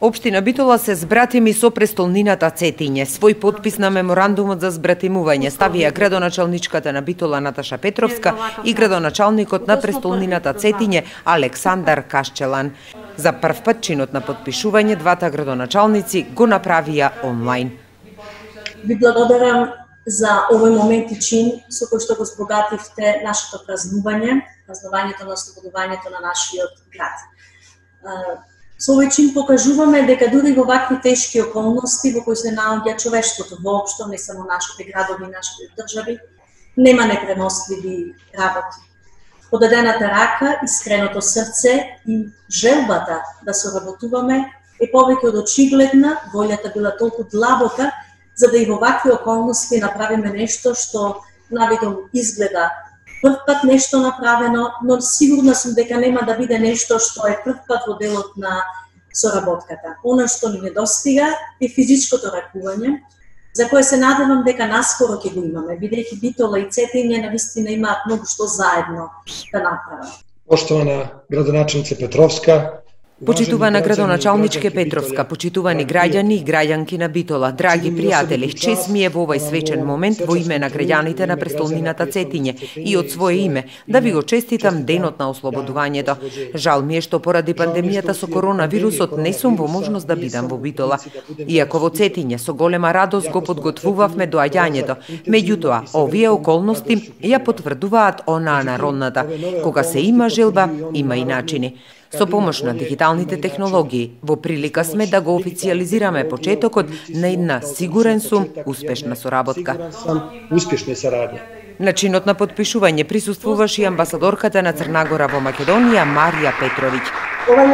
Општина Битола се збратими со престолнината Цетиње. Свој подпис на меморандумот за збратимување ставија градоначалничката на Битола Наташа Петровска и градоначалникот на престолнината Цетиње Александар Кашчелан. За прв пат чинот на потпишување двата градоначалници го направија онлайн. Ви благодарам за овој момент и чин со кој што го збогативте нашето празнувањето на ослободувањето на нашиот град. Со овој чин покажуваме дека дури во вакви тешки околности во кои се наоѓа човештвото воопшто, не само нашите градови, нашите држави, нема непремостливи работи. Подадената рака, искреното срце и желбата да соработуваме е повеќе од очигледна, волјата била толку длабока, за да и во вакви околности направиме нешто што навидом изгледа прв пат нешто направено, но сигурна сум дека нема да биде нешто што е прв пат во делот на соработката. Она што ни недостига е физичкото ракување, за кое се надевам дека наскоро ќе го имаме, бидејќи Битола и Цетиње навистина имаат многу што заедно да направат. Поштована градоначалнице Петровска, почитувана градоначалничке Петровска, почитувани граѓани и граѓанки на Битола, драги пријатели, чест ми е во овој свечен момент во име на граѓаните на престолнината Цетиње и од свое име да ви го честитам денот на ослободувањето. Жал ми е што поради пандемијата со коронавирусот не сум во можност да бидам во Битола. Иако во Цетиње со голема радост го подготвувавме доаѓањето, меѓутоа овие околности ја потврдуваат онаа народната: кога се има желба, има и начини. Со помош на дигиталните технологии, во прилика сме да го официализираме почетокот на една, сигурен сум, успешна соработка. На чинот на потпишување присуствуваше и амбасадорката на Црна Гора во Македонија Марија Петровиќ. Овај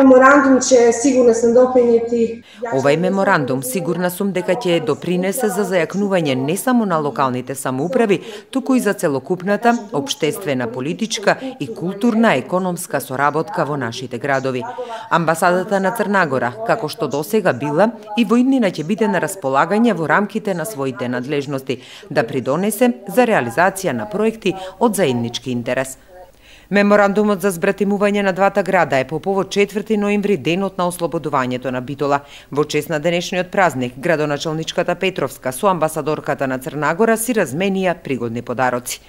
меморандум сигурна сум дека ќе допринесе за зајакнување не само на локалните самоуправи, туку и за целокупната општествена, политичка и културна економска соработка во нашите градови. Амбасадата на Црна Гора, како што досега била, и во иднина ќе биде на располагање во рамките на своите надлежности да придонесе за реализација на проекти од заеднички интерес. Меморандумот за збратимување на двата града е по повод 4 ноември, денот на ослободувањето на Битола. Во чест на денешниот празник, градоначалничката Петровска со амбасадорката на Црна Гора си разменија пригодни подароци.